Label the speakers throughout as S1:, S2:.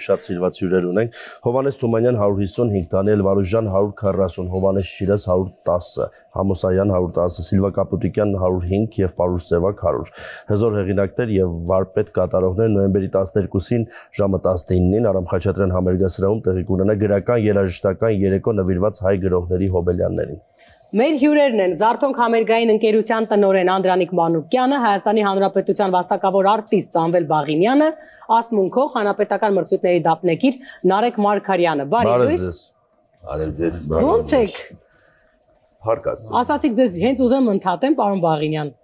S1: շատ սիրված հյուրեր ունենք։ Հովհաննես Թումանյան 155, Դանիել Վարուժյան 140, Հովհաննես Շիրազ 110, Համոսայան 110, Սիլվա Կապուտիկյան 105 եւ Պարուշ Սևակ 100։ Հզոր հեղինակներ եւ վարպետ կատարողներ նոյեմբերի 12-ին ժամը 19-ին Արամ Խաչատրյան համերգասրահում տեղի կունենա գրական երաժշտական երեկո նվիրված հայ գրողների հոբելյաններին։
S2: Մեր հյուրերն են Զարթոնք համերգային ընկերության տնօրեն Անդրանիկ Մանուկյանը, Հայաստանի Հանրապետության վաստակավոր արտիստ Սամվել Բաղինյանը, Աստմունքող հանրապետական մրցույթների դափնեկիր Նարեկ Մարգարյանը։ Բարի ձեզ։ Ո՞նց եք։
S3: Հարկած։
S2: Ասացիք ձեզ հենց ուզեմ ընդհատեմ, պարոն Բաղինյան։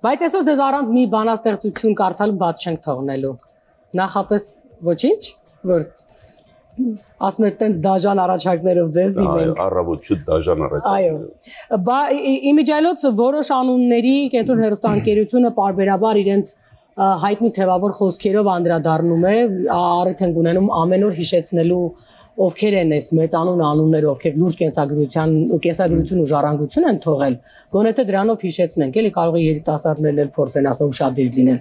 S2: Բայց այսօր ձեզ առանց մի բանաստեղծություն կարդալու բաց չենք թողնելու։ Նախապես ոչինչ, որ ասում եք տենց դաժան առաջարկներով ձեզ դիմենք։
S3: Առավոտ շուտ դաժան առաջարկներով։
S2: Այո։ Իմիջիայլոց որոշ անունների կենտրոն հեռուստաընկերությունը պարբերաբար իրենց հայտնի թևավոր խոսքերով անդրադառնում է, առիթ են ունենում ամեն օր հիշեցնելու ովքեր են այս մեծանուն անունները, ովքեր լուրջ կենսագրություն ու ժառանգություն են թողել, գոնե թե դրանով հիշեցնենք, էլի կարող է երիտասարդներն էլ փորձեն ասում շատ դիր լինեն։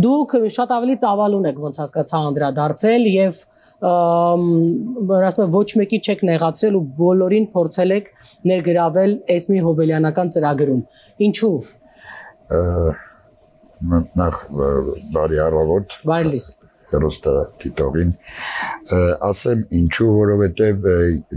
S2: Դուք շատ ավելի ծավալուն եք, ոնց հասկացա, անդրադարձել եւ ասում եմ ոչ մեկի չեք նեղացրել ու բոլորին փորձել եք ներգրավել այս մի հոբելյանական ծրագրում։ Ինչու։
S4: Նախ բարի առավոտ։
S2: Բարի լույս։
S4: Հեռուստադիտողին ասեմ ինչու, որովհետև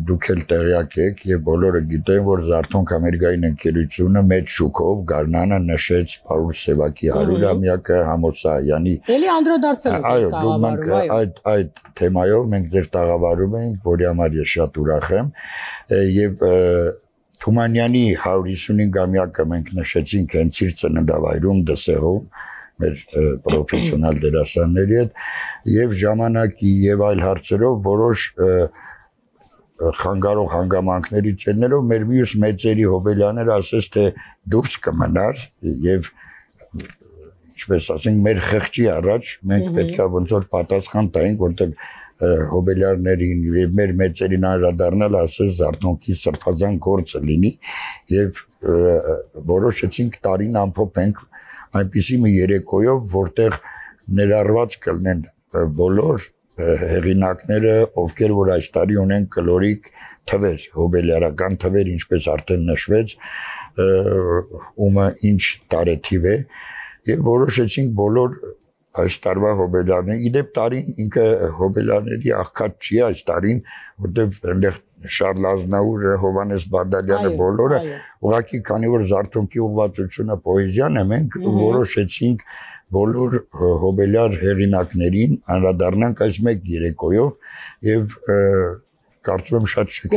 S4: դուք էլ տեղյակ եք եւ բոլորը գիտեն, որ Զարթոնք համերգային ընկերությունը մեծ շուկով գարնանը նշեց Պարուշ Սևակի 100-ամյակը Համոսայանի։
S2: Էլի անդրադարձել եք
S4: տաղավարում, այդ թեմայով մենք ձեր տաղավարում ենք, որի համար ես շատ ուրախ եմ եւ Թումանյանի 155-ամյակը մենք նշեցինք հենց իր ծննդավայրում Դսեղում մեր պրոֆեսիոնալ դերասանների հետ եւ ժամանակի եւ այլ հարցերով որոշ խանգարող հանգամանքներից ելնելով մեր մյուս մեծերի հոբելյանները ասես թե դուրս կմնար եւ ինչպես ասենք մեր խղճի առաջ մենք պետք է ոնց որ պատասխան տայինք որտեղ հոբելյարներին եւ մեր մեծերին անդրադառնալ ասես Զարթոնքի սրբազան գործը լինի եւ որոշեցինք տարին ամփոփենք այնպիսի մի երեկոյով, որտեղ ներառված կլինեն բոլոր հեղինակները, ովքեր որ այս տարի ունեն կլորիկ թվեր, հոբելյարական թվեր, ինչպես արդեն նշվեց, ումը ինչ տարեթիվ է, եւ որոշեցինք բոլոր այս տարվա հոբելյանները, իդեպ տարին ինքը հոբելյանների աղքատ չի այս տարին, որտեղ այնտեղ Շարլ Ազնավուրը, Հովհաննես Բադալյանը բոլորը, ուղղակի քանի որ Զարթոնքի ուղղվածությունը պոեզիան է, մենք որոշեցինք բոլոր հոբելյար հեղինակներին անդրադառնանք այս մեկ երեկոյով եւ կարծում եմ շատ շքեղ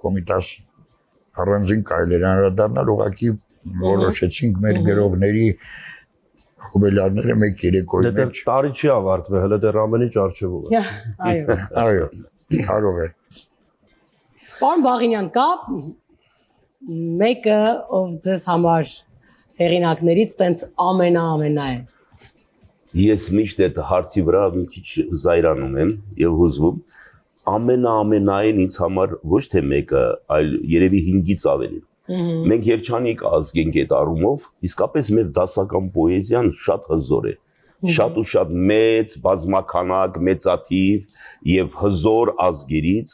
S4: կոմիտաս առանձին կարելի է անդրադառնալ, ուղղակի որոշեցինք մեր գրողների հոբելյարները մեկ երեկոյի մեջ։
S1: Տարի չի ավարտվել, հələ դեռ ամեն ինչ առջևում է։
S4: Այո, կարող է։
S2: Պարոն Բաղինյան, կա մեկը, ով ձեզ համար հեղինակներից տենց ամենա է։
S3: Ես միշտ այդ հարցի վրա մի քիչ զայրանում եմ եւ հուզվում։ Ամենային ինձ համար ոչ թե մեկը, այլ երևի 5-ից ավելի։ Մենք երջանիկ ազգ ենք այդ առումով, իսկապես մեր դասական պոեզիան շատ հզոր է, շատ ու շատ մեծ, բազմականակ, մեծաթիվ եւ հզոր ազգերից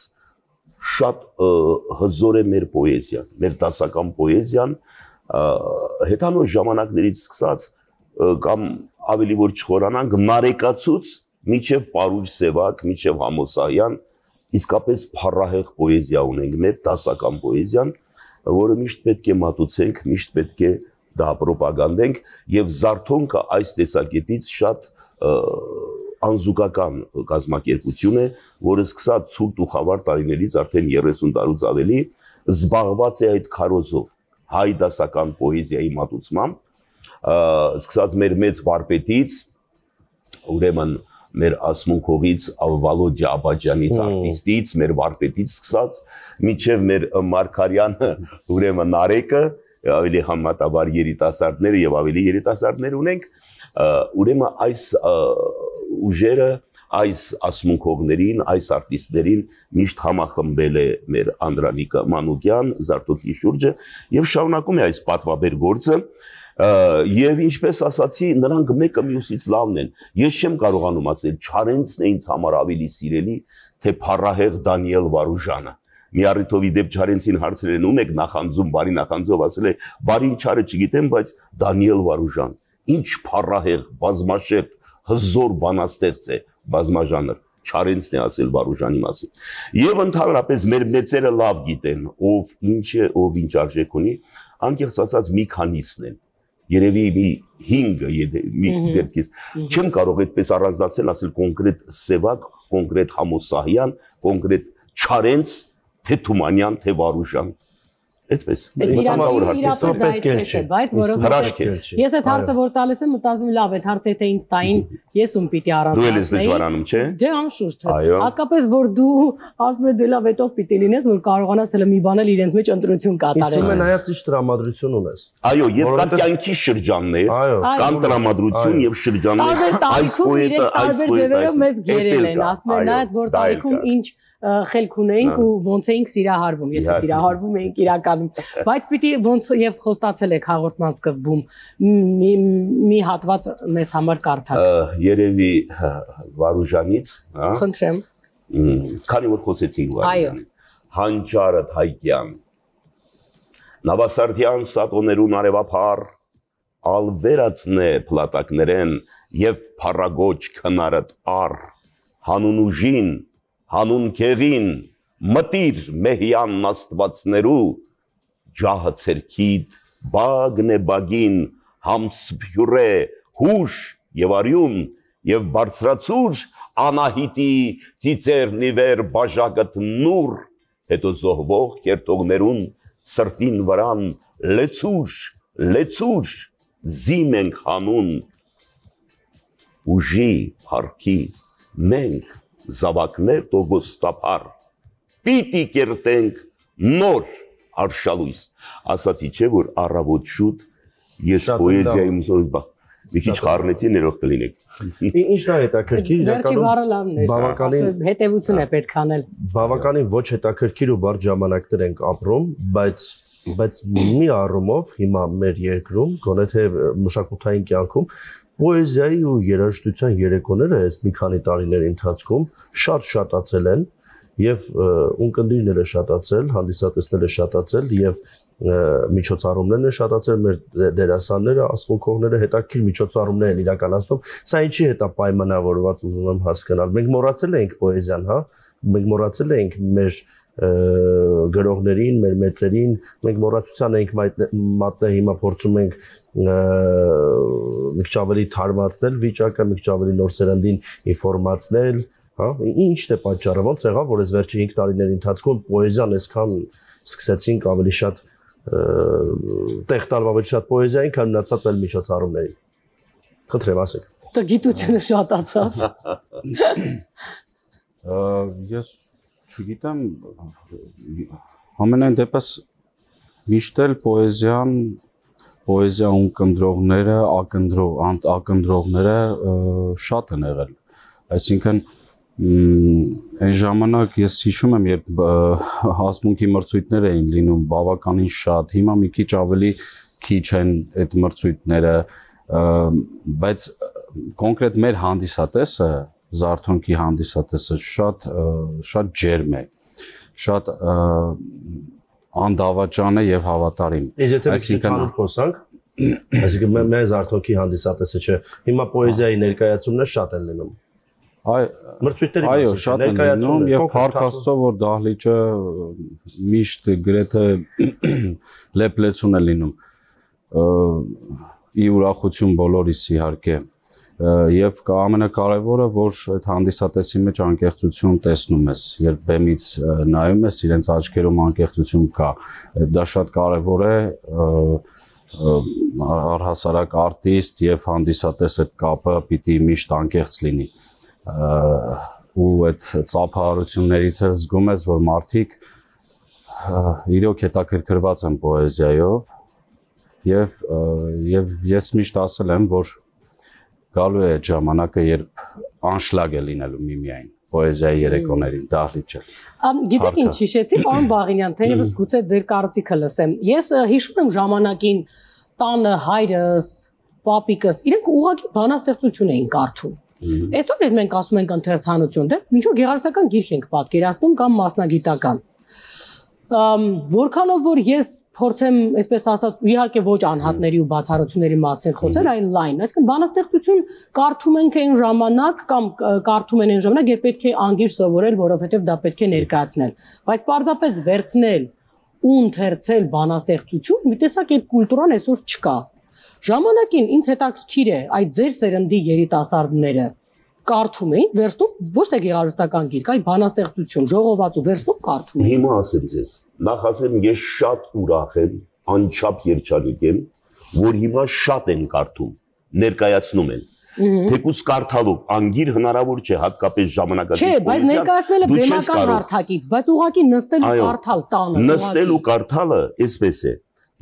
S3: շատ հզոր է մեր պոեզիան, մեր դասական պոեզիան, հետանոց ժամանակներից սկսած կամ ավելի որ չխորանանք Նարեկացուց մինչև Պարուշ Սևակ, մինչև Համոսայան, իսկապես փառահեղ պոեզիա ունենք մեր դասական պոեզիան, որը միշտ պետք է մատուցենք, միշտ պետք է դա պրոպագանդենք եւ Զարթոնքը այս տեսակետից շատ անզուգական կազմակերպություն է, որը սկսած ցուրտ ու խավար տարիներից արդեն 30 տարուց ավելի զբաղված է այդ քարոզով հայ դասական պոեզիայի մատուցմամբ, սկսած մեր մեծ վարպետից, ուրեմն մեր ասմունքողից Վալոդյա Աբաջյանից արտիստից, մեր վարպետից սկսած, մինչև մեր Մարգարյանը, ուրեմն Նարեկը, ավելի համատաբար երիտասարդները եւ ավելի երիտասարդներ ունենք, ուրեմն այս ուժերը, այս ասմունքողներին, այս արտիստներին միշտ համախմբել է մեր Անդրանիկ Մանուկյան, Զարթոնքի շուրջը եւ շարունակում է այս պատվաբեր գործը Եվ ինչպես ասացի, նրանք մեկը մյուսից լավն են։ Ես չեմ կարողանում ասել, Չարենցն է ինձ համար ավելի սիրելի, թե փառահեղ Դանիել Վարուժանը։ Մի առիթով իդեպ Չարենցին հարցրել են ում եք նախանձում, բարի նախանձով ասել է, բարին չարը չգիտեմ, բայց Դանիել Վարուժան։ Ինչ փառահեղ, բազմաշերտ, հզոր բանաստեղծ է, բազմաժանր։ Չարենցն է ասել Վարուժանի մասին։ Եվ ընդհանրապես մեր մեծերը լավ գիտեն, ով ինչ է, ով ինչ արժեք ունի, անկեղծ ասած մի քանիսն են։ Երևի մի 5-ը մի ձերքից չեմ կարող այդպես առանձնացնել, ասել կոնկրետ Սևակ, կոնկրետ Համոսահյան, կոնկրետ Չարենց, թե Թումանյան, թե Վարուժան։ Այդպես։
S2: Բայց որովհետև ես այդ հարցը որ տալիս եմ, մտածում եմ լավ, այդ հարցը եթե ինձ տային, ես ում պիտի առանձնացնեի։ Դու
S3: ես դժվարանում, չէ՞։
S2: Դե անշուշտ։ Հատկապես որ դու ասում ես դե լավ, այդով պիտի լինես, որ կարողանաս հələ մի բան էլ իրենց մեջ ընտրություն կատարել։
S1: Իսկ նայած ինչ տրամադրություն ունես։
S3: Այո, եւ կան կյանքի շրջաններ, կան տրամադրություն եւ շրջաններ, այս պոետը, այս
S2: ձևերով մեզ գերել են, ասում են նայած որ տարիքում ինչ խելք ունեինք ու ոնց էինք սիրահարվում, եթե սիրահարվում էինք իրականում, բայց պիտի ոնց եւ խոստացել եք հաղորդման սկզբում մի հատված մեզ համար կարդաք։
S3: Երևի Վարուժանից, հա։
S2: Խնդրեմ։
S3: Քանի որ խոսեցինք Վարուժանից։ Հանճարդ Հայկյան։ Նավասարդյան սատոներուն արևափառ, ալվերացնե փլատակներեն եւ փառագոչ քնարդ առ, հանուն ուժին Հանուն քեղին, մտիր մեհյան աստվածներու, ջահը ցերքիդ, բագն է բագին, համսփյուրե, հուշ եւ արյուն, եւ բարձրացուր անահիտի ծիծերնի վեր բաժակդ նուր, հետո զոհվող կերտողներուն սրտին վրան լեցուր, զիմ ենք հանուն, ուժի, փառքի, մենք Զավակներ տոգոստապար, պիտի կերտենք նոր արշալույս, ասացի չէ, որ առավոտ շուտ ես պոեզիայում մի քիչ խառնեցի ներող կլինեք։
S1: Ինչն է հետաքրքիր,
S2: իրականում հետևություն է պետք անել։
S1: Բավականին ոչ հետաքրքիր ու բարդ ժամանակներ ենք ապրում, բայց մի առումով հիմա մեր երկրում, գոնե թե մշակութային կյանքում Պոեզիայի ու երաժշտության երեկոները այս մի քանի տարիների ընթացքում շատ շատացել են եւ ունկնդիրները շատացել, հանդիսատեսները շատացել եւ միջոցառումներն են շատացել, մեր դերասանները, ասմունքողները հետաքրքիր միջոցառումներ են իրականացնում։ Սա ինչի հետ է պայմանավորված, ուզում եմ հասկանալ։ Մենք մոռացել ենք պոեզիան, հա։ Մենք մոռացել ենք մեր գրողներին, մեր մեծերին, մենք մոռացության ենք մատնել, հիմա փորձում ենք մի քիչ ավելի թարմացնել վիճակը, մի քիչ ավելի նոր սերնդին ինֆորմացնել, հա, ինչն է պատճառը, ոնց եղավ, որ այս վերջի 5 տարիների ընթացքում պոեզիան այսքան սկսեցինք ավելի շատ տեղ տալ ավելի շատ պոեզիային, քան մնացած այլ միջոցառումներին։ Խնդրեմ, ասեք։
S2: Դա գիտությունը շատացավ։
S5: Ես չգիտեմ, ամենայն դեպս միշտ էլ պոեզիա ունկնդրողները, ակնդրողները շատ են եղել։ Այսինքն այն ժամանակ ես հիշում եմ, երբ հասմունքի մրցույթներ էին լինում բավականին շատ, հիմա մի քիչ ավելի քիչ են այդ մրցույթները, բայց կոնկրետ մեր հանդիսատեսը Զարթոնքի հանդիսատեսը շատ ջերմ է, շատ անդավաճան է եւ հավատարիմ։
S1: Այսինքն խոսանք, այսինքն մեր Զարթոնքի հանդիսատեսը չէ, հիմա պոեզիայի ներկայացումներ շատ են լինում։
S5: Այո, շատ են լինում եւ փառք Աստծո, որ դահլիճը միշտ գրեթե լեփլեցուն է լինում։ Ի ուրախություն բոլորիս իհարկե։ Եվ ամենակարևորը, որ այդ հանդիսատեսի մեջ անկեղծություն տեսնում ես, երբ բեմից նայում ես, իրենց աչքերում անկեղծություն կա, դա շատ կարևոր է, առհասարակ արտիստ եւ հանդիսատես այդ կապը պիտի միշտ անկեղծ լինի, ու այդ ծափահարություններից էլ զգում ես, որ մարդիկ իրոք հետաքրքրված են պոեզիայով, եւ ես միշտ ասել եմ, որ գալու է այդ ժամանակը, երբ անշլագ է լինելու միմիայն պոեզիայի երեկոներին, դահլիճը։
S2: Գիտեք ինչ հիշեցի, պարոն Բաղինյան, թերևս գուցե ձեր կարծիքը լսեմ։ Ես հիշում եմ ժամանակին տանը հայրս, պապիկս, իրենք ուղղակի բանաստեղծություն էին կարդում։ Այսօր էլ մենք ասում ենք ընթերցանություն, դե ինչ որ գեղարվեստական գիրք ենք պատկերացնում կամ մասնագիտական։ Որքանով որ ես փորձեմ, այսպես ասած, իհարկե ոչ անհատների ու բացառությունների մասին խոսել, այլ լայն, այսինքն բանաստեղծություն կարդում ենք այն ժամանակ կամ կարդում են այն ժամանակ, երբ պետք է անգիր սովորել, որովհետև դա պետք է ներկայացնել, բայց պարզապես վերցնել ու ընթերցել բանաստեղծություն, մի տեսակ այդ կուլտուրան այսօր չկա։ Ժամանակին ինձ հետաքրքիր է այդ ձեր սերնդի երիտասարդները կարդում էին, վերստում ոչ թե գեղարվեստական գիրք, այլ բանաստեղծություն, ժողովածու վերստում կարդում էին։
S3: Հիմա ասեմ ձեզ, նախ ասեմ ես շատ ուրախ եմ, անչափ երջանիկ եմ, որ հիմա շատ են կարդում, ներկայացնում են։ Թեկուզ կարդալով անգիր հնարավոր չէ հատկապես ժամանակակից
S2: Չէ, բայց ներկայացնելը բեմական հարթակից, բայց ուղղակի նստել ու կարդալ տանը։
S3: Նստել ու կարդալը այսպես է։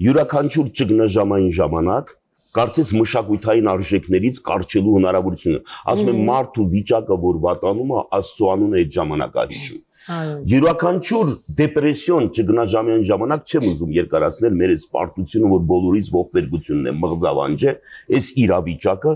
S3: Յուրաքանչյուր ճգնաժամային ժամանակ կարծես մշակութային արժեքներից կարճելու հնարավորությունը։ Ասում եմ մարդու վիճակը, որ վատանում է, Աստծո անունը այդ ժամանակ է հիշում։ Յուրաքանչյուր դեպրեսիոն ճգնաժամային ժամանակ չեմ ուզում երկարացնել մեր այս պարտությունը, որ բոլորից ողբերգությունն է, մղձավանջ է, այս իրավիճակը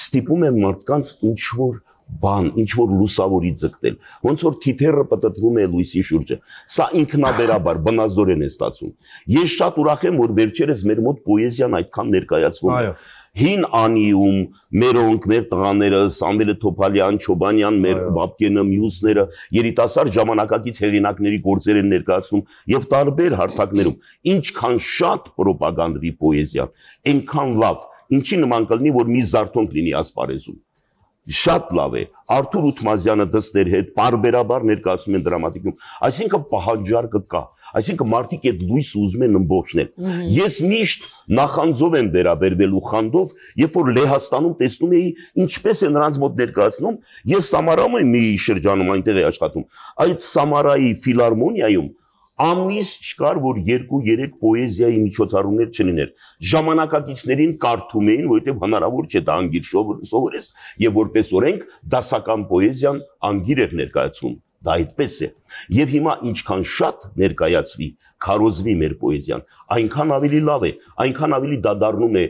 S3: ստիպում է մարդկանց ինչ-որ բան, ինչ-որ լուսավորի ձգտել։ Ոնց որ թիթեռը պտտվում է լույսի շուրջը։ Սա ինքնաբերաբար բնազդորեն է ստացվում։ Ես շատ ուրախ եմ, որ վերջերս մեր մոտ պոեզիան այդքան ներկայացվում է։ Հին անիում, մերոնք, մեր տղաները, Սամվելը Թոփալյան, Չոբանյան, մեր Բաբկենը, մյուսները, երիտասարդ ժամանակակից հեղինակների գործեր են ներկայացնում եւ տարբեր հարթակներում։ Ինչքան շատ պրոպագանդվի պոեզիան, այնքան լավ, ինչի նման կլինի, որ մի զարթոնք լինի ասպարեզում։ Շատ լավ է, Արթուր Ութմազյանը դստեր հետ պարբերաբար ներկայացում են դրամատիկում, այսինքն պահանջարկը կա, այսինքն մարդիկ այդ լույսը ուզում են ըմբոշխնել։ Ես միշտ նախանձով եմ վերաբերվելու խանդով, երբ որ Լեհաստանում տեսնում էի ինչպես է նրանց մոտ ներկայացնում, ես Սամարայում եմ մի շրջանում այնտեղ էի աշխատում, այդ Սամարայի ֆիլհարմոնիայում ամիս չկար, որ 2-3 պոեզիայի միջոցառումներ չլիներ։ Ժամանակակիցներին կարդում էին, որովհետև հնարավոր չէ դա անգիր սովորես, եւ որպես օրենք դասական պոեզիան անգիր էր ներկայացվում։ Դա այդպես է։ Եվ հիմա ինչքան շատ ներկայացվի, քարոզվի մեր պոեզիան, այնքան ավելի լավ է, այնքան ավելի դա դառնում է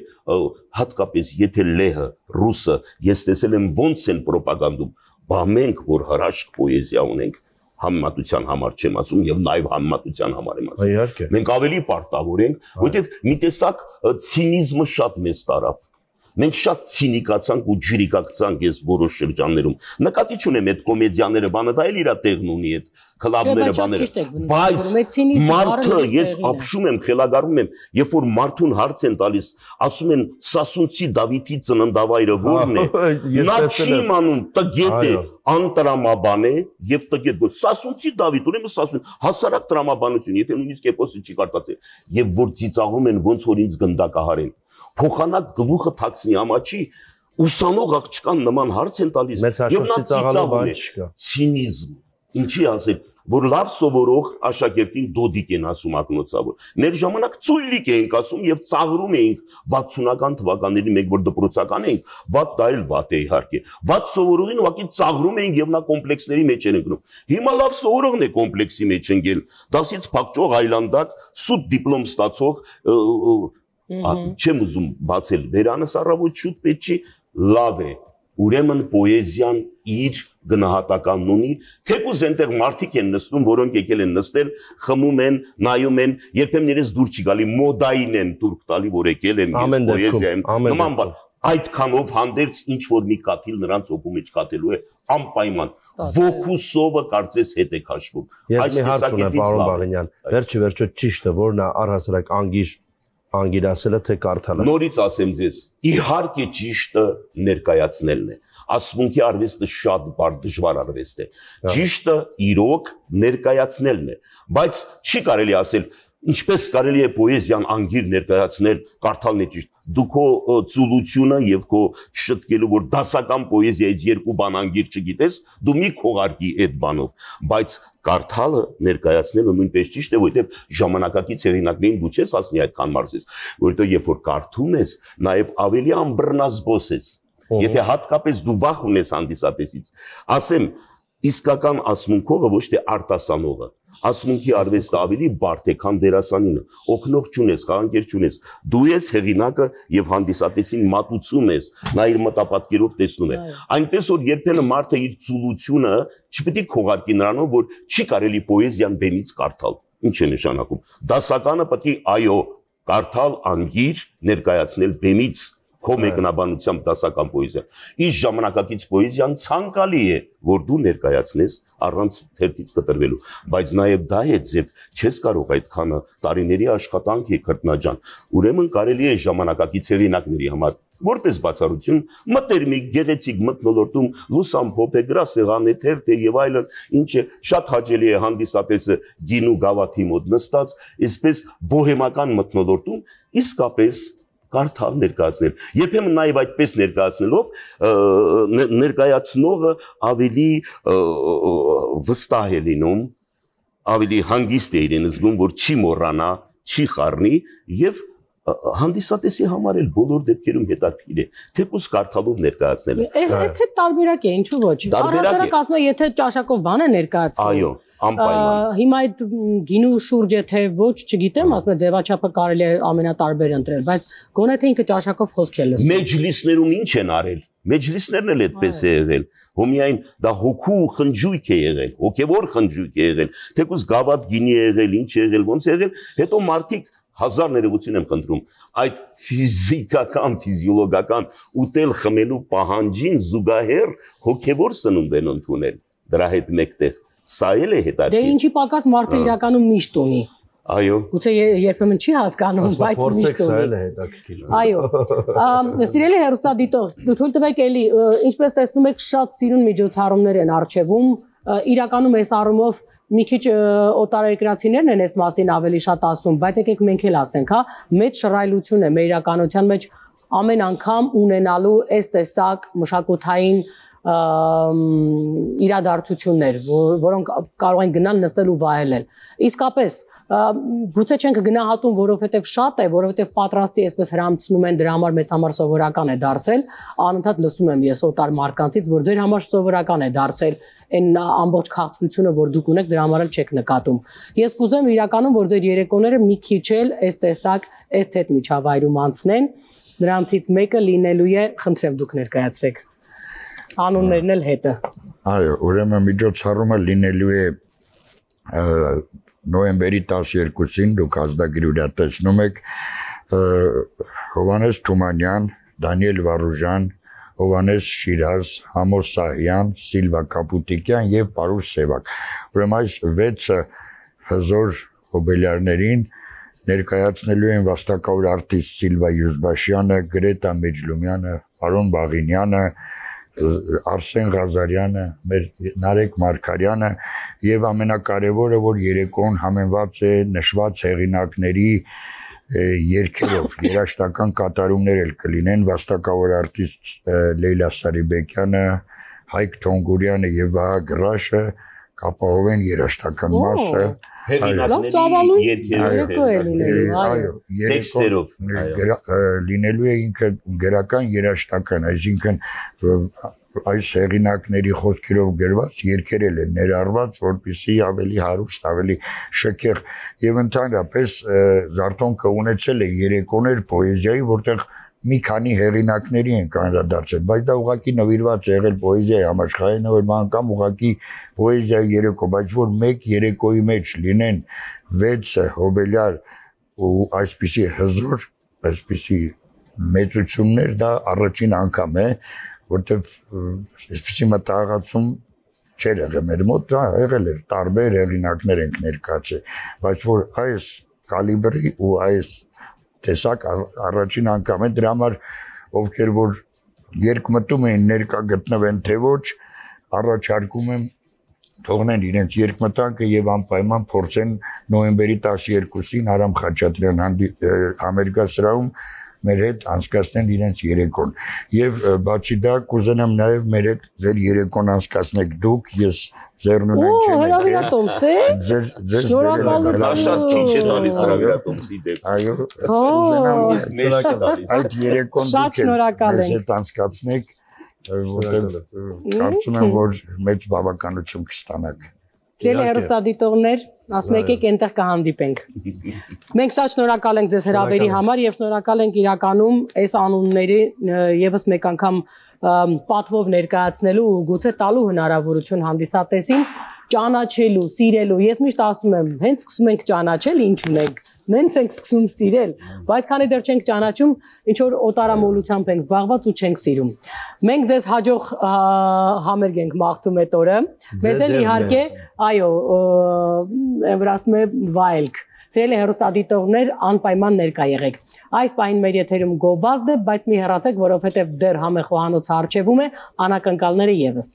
S3: հատկապես եթե լեհը, ռուսը, ես տեսել եմ ոնց են պրոպագանդում, բա մենք որ հրաշք պոեզիա ունենք, համեմատության համար չեմ ասում եւ նաեւ համեմատության համար եմ ասում։ Մենք ավելի պարտավոր ենք, որովհետեւ մի տեսակ ցինիզմը շատ մեծ տարավ։ Մենք շատ ցինիկացանք ու ջրիկացանք այս որոշ շրջաններում։ Նկատի չունեմ այդ կոմեդիաները, բանը դա էլ իր տեղն ունի այդ քլաբները, բաները։ Բայց մարդը ես ապշում եմ, խելագարվում եմ, երբ որ մարդուն հարց են տալիս, ասում են Սասունցի Դավիթի ծննդավայրը ո՞րն է։ Նա չի իմանում, տգետ է, անտրամաբան է եւ տգետ։ Սասունցի Դավիթ, ուրեմն Սասուն, հասարակ տրամաբանություն, եթե նույնիսկ էպոսը չի կարդացել, եւ որ ծիծաղում են ոնց որ ինձ գնդակահարեն։ Փոխանակ գլուխը թաքցնի ամաչի, ուսանող աղջկան նման հարց են տալիս եւ նա ծիծաղում է։ Ցինիզմ, ինչի ասել, որ լավ սովորող աշակերտին դոդիկ են ասում ակնոցավոր։ Մեր ժամանակ ծույլիկ էինք ասում եւ ծաղրում էինք 60-ական թվականների մենք որ դպրոցական էինք, վատ դա էլ վատ է իհարկե։ Վատ սովորողին ուղղակի ծաղրում էինք եւ նա կոմպլեքսների մեջ են ընկնում։ Հիմա լավ սովորողն է կոմպլեքսի մեջ ընկել։ Դասից փակճող այլանդակ, սուտ դիպլոմ ստացող չեմ ուզում բացել վերանս առավոտ շուտ պետք չի լավ է ուրեմն պոեզիան իր գնահատականն ունի թեկուզ այնտեղ մարդիկ են նստում որոնք եկել են նստել խմում են նայում են երբեմն իրենց դուր չի գալի մոդային են турք տալի որ եկել են պոեզիայում նման բան այդքանով հանդերձ ինչ որ մի կաթիլ նրանց օգու մեջ կաթելու է անպայման ոգու սովը կարծես հետ է քաշվում
S1: այս տեսակետից պարոն Բաղինյան վերջը ճիշտ է որ նա առհասարակ անգիրասելը թե կարդալը։ Նորից
S3: ասեմ ձեզ, իհարկե ճիշտը ներկայացնելն է։ Ասմունքի արվեստը շատ դժվար արվեստ է։ Ճիշտը իրոք ներկայացնելն է, բայց չի կարելի ասել ինչպես կարելի է պոեզիան անգիր ներկայացնել, կարդալն է ճիշտ։ Դու քո ծուլությունը եւ քո շտկելու որ դասական պոեզիայից երկու բան անգիր չգիտես, դու մի քողարկի այդ բանով, բայց կարդալը ներկայացնելը նույնպես ճիշտ է, որովհետեւ ժամանակակից հեղինակներին դու չես ասնի այդքան մարզես, որովհետեւ երբ որ կարդում ես, նաեւ ավելի ամբռնազբոս ես։ Եթե հատկապես դու վախ ունես հանդիսատեսից, ասեմ, իսկական ասմունքողը ոչ թե արտասանողը ասմունքի արվեստը ավելի բարդ է, քան դերասանինը։ Օգնող չունես, խաղանկեր չունես։ Դու ես հեղինակը եւ հանդիսատեսին մատուցում ես, նա իր մտապատկերով տեսնում է։ Այնպես որ երբեմն մարդը իր ծուլությունը չպետք է քողարկի նրանով, որ չի կարելի պոեզիան բեմից կարդալ։ Ինչ է նշանակում։ Դասականը պետք է այո, կարդալ անգիր, ներկայացնել բեմից քո մեկնաբանությամբ դասական պոեզիա։ Իս ժամանակակից պոեզիան ցանկալի է, որ դու ներկայացնես առանց թերթից կտրվելու, բայց նաև դա է ձև, չես կարող այդքանը տարիների աշխատանք է քրտնաջան։ Ուրեմն կարելի է ժամանակակից հեղինակների համար որպես բացառություն մտերմիկ գեղեցիկ մթնոլորտում լուսամփոփ է, գրասեղան է, թերթ է եւ այլն, ինչը շատ հաճելի է հանդիսատեսը գինու գավաթի մոտ նստած, այսպես բոհեմական մթնոլորտում իսկապես կարդալ ներկայացնել։ Երբեմն նաև այդպես ներկայացնելով ներկայացնողը ավելի վստահ է լինում, ավելի հանգիստ է իրեն զգում, որ չի մոռանա, չի խառնի եւ հանդիսատեսի համար էլ բոլոր դեպքերում հետաքրքիր է, թեկուզ կարդալով ներկայացնելը։
S2: Այս թե տարբերակ է, ինչու ոչ։ Առհասարակ ասում եմ, եթե ճաշակով բան է ներկայացնում։
S3: Այո, անպայման։
S2: Հիմա այդ գինու շուրջ է թե ոչ, չգիտեմ, ասում եմ ձևաչափը կարելի է ամենատարբեր ընտրել, բայց գոնե թե ինքը ճաշակով խոսք է լսում։
S3: Մեջլիսներում ինչ են արել։ Մեջլիսներն էլ այդպես է եղել։ Հոմիայն դա հոգու խնջույք է եղել, հոգևոր խնջույք է եղել, թեկուզ գավաթ գինի է եղել, ինչ է եղել, ոնց է եղել, հետո մարդիկ հազար ներողություն եմ խնդրում, այդ ֆիզիկական, ֆիզիոլոգական ուտել խմելու պահանջին զուգահեռ հոգևոր սնունդ են ընդունել դրա հետ մեկտեղ, սա էլ է հետաքրքիր։
S2: Դե ինչի պակաս մարդը իրականում միշտ ունի։
S3: Այո։
S2: Գուցե երբեմն չի հասկանում, բայց միշտ ունի։
S1: Սա էլ է հետաքրքիր։
S2: Այո։ Սիրելի հեռուստադիտող, թույլ տվեք էլի, ինչպես տեսնում եք, շատ սիրուն միջոցառումներ են արժևում, իրականում այս առումով մի քիչ օտարերկրացիներն են այս մասին ավելի շատ ասում, բայց եկեք մենք էլ ասենք, հա, մեծ շռայլություն է մեր իրականության մեջ ամեն անգամ ունենալու այս տեսակ մշակութային իրադարձություններ, որոնք կարող են գնալ նստել ու վայելել։ Իսկապես, գուցե չենք գնահատում, որովհետև շատ է, որովհետև պատրաստի այսպես հրամցնում են, դրա համար մեզ համար սովորական է դարձել, անընդհատ լսում եմ ես օտար մարդկանցից, որ ձեր համար սովորական է դարձել այն ամբողջ քաղցրությունը, որ դուք ունեք, դրա համար էլ չեք նկատում։ Ես կուզեմ իրականում, որ ձեր երեկոները մի քիչ էլ այս տեսակ էսթետ միջավայրում անցնեն, նրանցից մեկը լինելու է, խնդրեմ դուք ներկայացրեք անուններն էլ հետը։
S4: Այո, ուրեմն միջոցառումը լինելու է նոյեմբերի 12-ին, դուք ազդագրի տեսնում եք, Հովհաննես Թումանյան, Դանիել Վարուժան, Հովհաննես Շիրազ, Համոս Սահյան, Սիլվա Կապուտիկյան եւ Պարուս Սևակ։ Ուրեմն այս 6 հզոր հոբելյարներին ներկայացնելու են վաստակավոր արտիստ Սիլվա Յուզբաշյանը, Գրետա Մեջլումյանը, Արոն Բաղինյանը, Արսեն Ղազարյանը, մեր Նարեկ Մարգարյանը եւ ամենակարևորը, որ երեկոն համենված է նշված հեղինակների երգերով, երաժշտական կատարումներ էլ կլինեն, վաստակավոր արտիստ Լեյլա Սարիբեկյանը, Հայկ Թոնգուրյանը եւ Վահա Գրաշը կապահովեն երաժշտական մասը։
S3: Տեքստերով
S4: լինելու է ինքը գրական երաժշտական, այսինքն այս հեղինակների խոսքերով գրված երգերել են ներառված, որպեսզի ավելի հարուստ, ավելի շքեղ եւ ընդհանրապես Զարթոնքը ունեցել է երեկոներ պոեզիայի, որտեղ մի քանի հեղինակների են կանրադարձել, բայց դա ուղղակի նվիրված է եղել պոեզիայի համաշխարհային անգամ ուղղակի պոեզիայի երեկո, բայց որ մեկ երեկոյի մեջ լինեն 6 հոբելյար ու այսպիսի հզոր, այսպիսի մեծություններ, դա առաջին անգամ է, որտեվ այսպիսի մտահղացում չէր եղել մեր մոտ, դա եղել էր տարբեր հեղինակներ ենք ներկայացել, բայց որ այս կալիբրի ու այս տեսակ առաջին անգամ է, դրա համար ովքեր որ երկմտում են ներկա գտնվեն թե ոչ, առաջարկում եմ թողնեն իրենց երկմտանքը եւ անպայման փորձեն նոյեմբերի 12-ին Արամ Խաչատրյան համերգասրահում մեր հետ անցկացնեն իրենց երեկոն եւ բացի դա կուզենամ նաեւ մեր հետ ձեր երեկոն անցկացնեք դուք, ես ձեռնունայն չեմ
S2: հրավիրատոմս է։
S4: ձեր
S3: շատ քիչ է տալիս հրավիրատոմսի դեպք։
S4: Այո, այդ երեկոն
S2: շատ շնորհակալ ենք։
S4: Ձեզ անցկացնեք, որտեղ կարծում եմ որ մեծ բավականություն կստանաք։
S2: Սիրելի հեռուստադիտողներ, ասում եկեք այնտեղ կհանդիպենք։ Մենք շատ շնորհակալ ենք ձեզ հրավերի համար եւ շնորհակալ ենք իրականում այս անունների եւս մեկ անգամ պատվով ներկայացնելու ու գուցե տալու հնարավորություն հանդիսատեսին ճանաչելու, սիրելու։ Ես միշտ ասում եմ, հենց սկսում ենք ճանաչել, ինչ ունենք։ Մենք ենք սկսում սիրել, բայց քանի դեռ չենք ճանաչում, ինչ որ օտարամոլությամբ ենք զբաղված ու չենք սիրում։ Մենք ձեզ հաջող համերգ ենք մաղթում այդ օրը։ Մեզ էլ իհարկե, այո, ասում է վայելք։ Սիրելի հեռուստադիտողներ, անպայման ներկա եղեք։ Այս պահին մեր եթերում գովազդ է, բայց մի հեռացեք, որովհետև դեռ համախոհանոցը արժևում է, անակնկալները եւս։